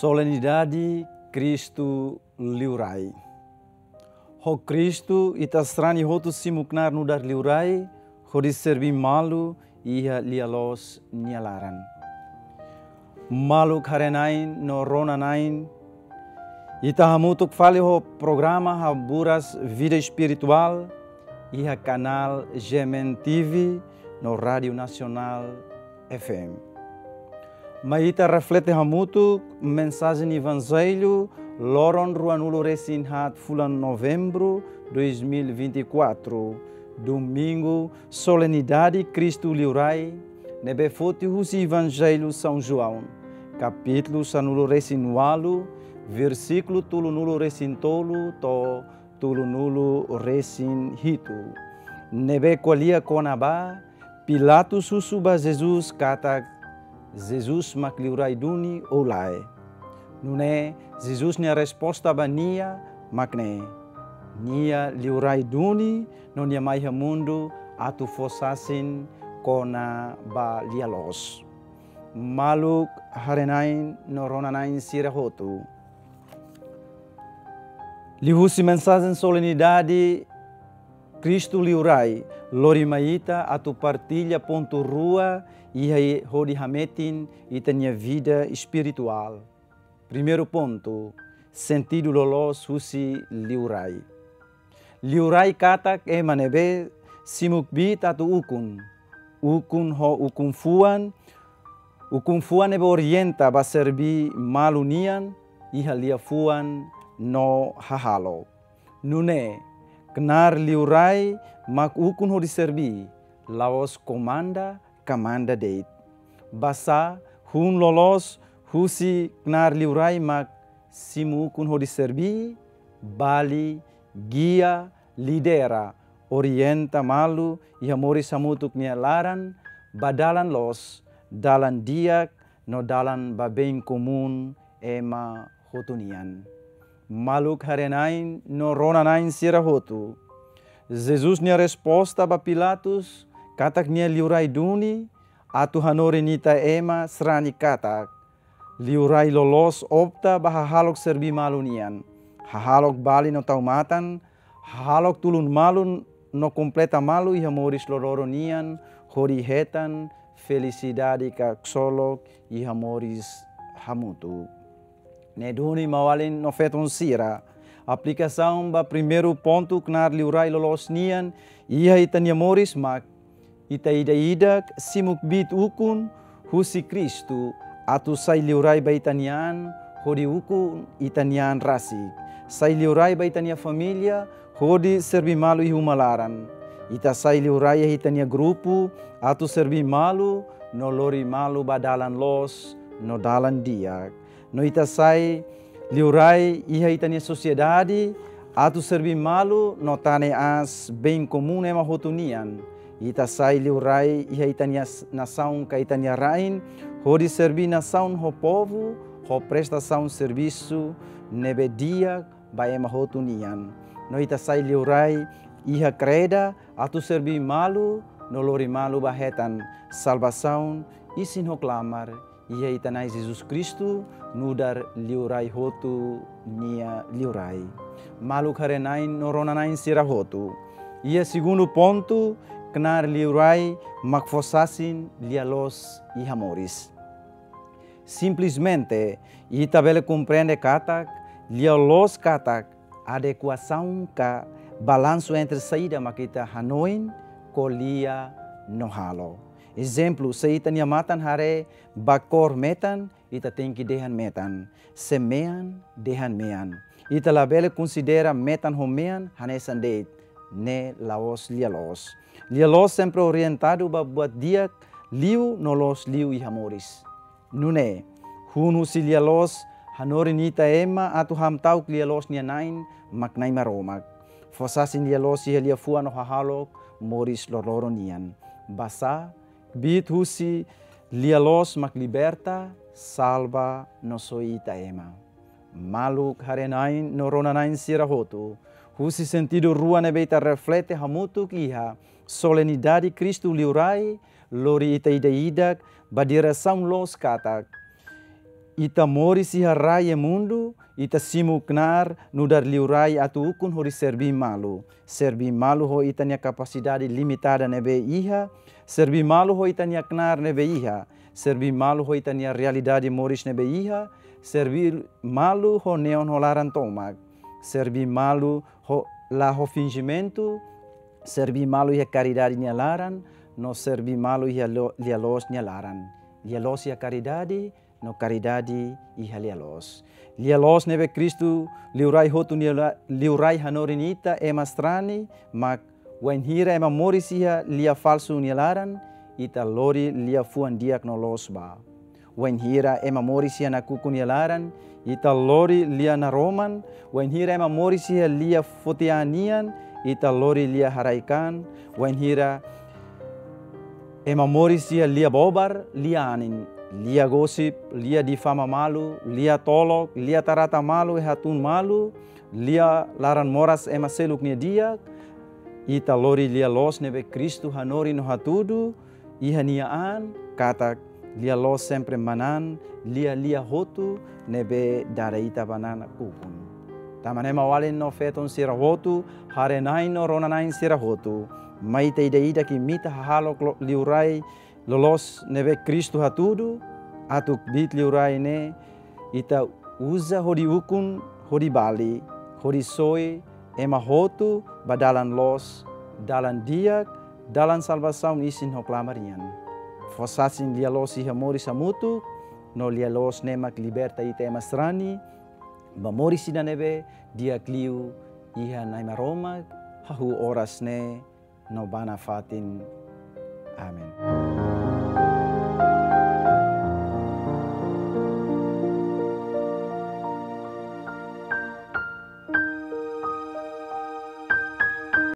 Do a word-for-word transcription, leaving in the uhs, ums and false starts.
Solenidade Kristu Liurai. Ho Kristu, ita sarani hotu simu knaar nu'udar liurai, hodi serbí malu iha lia-loos nia laran. Maluk haree-na'in no rona-na'in, ita hamutuk fali ho programa Haburas Vida Espirituál iha kanál G M N T V no Rádiu Nasionál F M. Mai ita reflete hamutuk mensajen Evanjellu loron ruanulu-resin-haat fulan Novembru dois mil e vinte e quatro, Domingu, Solenidade Kristu Liurai, ne'ebé foti husi Evanjellu São João, kapítulu sanulu-resin-ualu, versíkulu tolunulu-resin-tolu to'o tolunulu-resin-hitu. Ne'ebé ko'alia kona-ba Pilatus husu ba Jesus katak Jesus mak liurai duni ou lae. Nune'e Jesus nia resposta ba nia mak ne'e: Nia liurai duni no nia mai iha mundu atu fó sasin kona-ba lia-loos. Maluk haree-na'in no rona-na'in sira hotu, liuhusi mensajen Solenidade Kristu Liurai, lori mai ita atu partilla pontu rua iha hodi hametin ita-nia vida espirituál. Primeiru pontu, sentidu loloos husi liurai. Liurai katak ema ne'ebé simu kbiit atu ukun. Ukun ho ukun-fuan, ukun-fuan ne'ebé orienta ba serbí malu nian iha liafuan no hahalok. Nune'e, knaar liurai mak ukun hodi serbí, la'ós komanda ka manda de'it. Basá, hun loloos husi knaar liurai mak simu ukun hodi serbí, bali, gia, lidera, orienta malu iha moris hamutuk nia laran, ba dalan loos, dalan di'ak, no dalan ba bem komún ema hotu nian. Maluk haree-na'in no rona-na'in sira hotu, Jesus nia resposta ba Pilatus katak nia liurai duni, atu hanorin ita ema sarani katak liurai loloos opta ba hahalok serbí malu nian, hahalok bali no tau matan, hahalok tulun malu no kompleta malu iha moris loroloron nian, hodi hetan felisidade ka ksolok iha moris hamutuk. Ne'e duni maun-alin no feton sira, aplikasaun ba primeiru pontu knaar liurai loloos nian iha ita-nia moris mak ita ida-idak simu kbiit ukun husi Kristu atu sai liurai ba ita-nia an hodi ukun ita-nia an rasik. Sai liurai ba ita-nia família hodi serbí malu iha uma laran. Ita sai liurai iha ita-nia grupu atu serbí malu no lori malu ba dalan loos no dalan di'ak. No ita sai liurai iha ita-nia sosiedade atu serbí malu no tane aas bem komún ema hotu nian. Ita sai liurai iha ita-nia s-, nasaun ka ita-nia rain, hodi serbí nasaun ho povu, ho prestasaun servisu ne'ebé di'ak ba ema hotu nian. No ita sai liurai iha kreda atu serbí malu no lori malu ba hetan salvasaun, isin ho klamar iha ita-nia Na'i Jesus Kristu, nu'udar liurai hotu nia liurai. Maluk haree-na'in no rona-na'in sira hotu, iha segundu pontu, knaar liurai mak fó sasin lia-loos iha moris. Simplesmente, ita bele komprende katak lia-loos katak adekuasaun ka balansu entre saida mak ita hanoin, ko'alia no halo. Ezemplu, se ita-nia matan haree ba kór metan, ita tenke dehan metan. Se mean, dehan mean. Ita labele konsidera metan ho mean hanesan de'it, ne'e la'ós lia-loos. Lia-loos sempre orientadu ba buat di'ak liu no loos liu iha moris. Nune'e, hun husi lia-loos hanorin ita ema atu hamta'uk lia-loos nia na'in mak Na'i Maromak. Fó sasin lia-loos iha liafuan no hahalok moris loroloron nian. Basá, kbiit husi lia-loos mak liberta, salva no soi ita ema. Maluk haree-na'in no rona-na'in sira hotu, husi sentidu rua ne'ebé ita reflete hamutuk iha Solenidade Kristu Liurai, lori ita ida-idak ba diresaun loos katak Ita moris iha rai iha mundu, ita simu knaar nu'udar liurai atu ukun hodi serví malu. Serví malu ho ita-nia kapasidade limitada ne'ebé iha, serví malu ho ita-nia knaar ne'ebé iha, serví malu ho ita-nia realidade moris ne'ebé iha, serví malu ho neon ho laran tomak, serví malu ho, la ho finjimentu, serví malu iha karidade nia laran, no serví malu iha lo-, lia-loos nia laran. Lia-loos iha karidade, no karidade iha lia-loos. Lia-loos ne'ebé Kristu liurai hotu nia la-, liurai hanorin ita ema sarani, mak wainhira ema moris iha lia falsu nia laran, ita lori lia fuan di'ak no loos ba. Wainhira ema moris iha nakukun nia laran, ita lori lia naroman. Wainhira ema moris iha lia foti-an nian, ita lori lia haraik-an. Wainhira ema moris iha lia bobar, lia anin, lia gosip, lia difama malu, lia tolok, lia tarata malu, eh hatún malu, lia laran moras ema seluk nia di'ak, ita lori lia-loos ne'ebé Kristu hanorin no hatudu iha nia an, katak lia-loos sempre manán lia-lia hotu ne'ebé dada ita ba nakukun. Tanba ne'e maun-alin no feton sira hotu, haree-na'in no rona-na'in sira hotu, mai ita ida-idak imita hahalok lo-, liurai loloos ne'ebé Kristu hatudu, atu kbiit liurai ne'e ita uza hodi ukun, hodi bali, hodi soi ema hotu ba dalan loos, dalan di'ak, dalan salvasaun isin ho klamar nian. Fó sasin lia-loos iha moris hamutuk, no lia-loos ne'e mak liberta ita ema sarani ba moris ida ne'ebé di'ak liu iha Na'i Maromak, hahú oras ne'e no ba nafatin. Amen.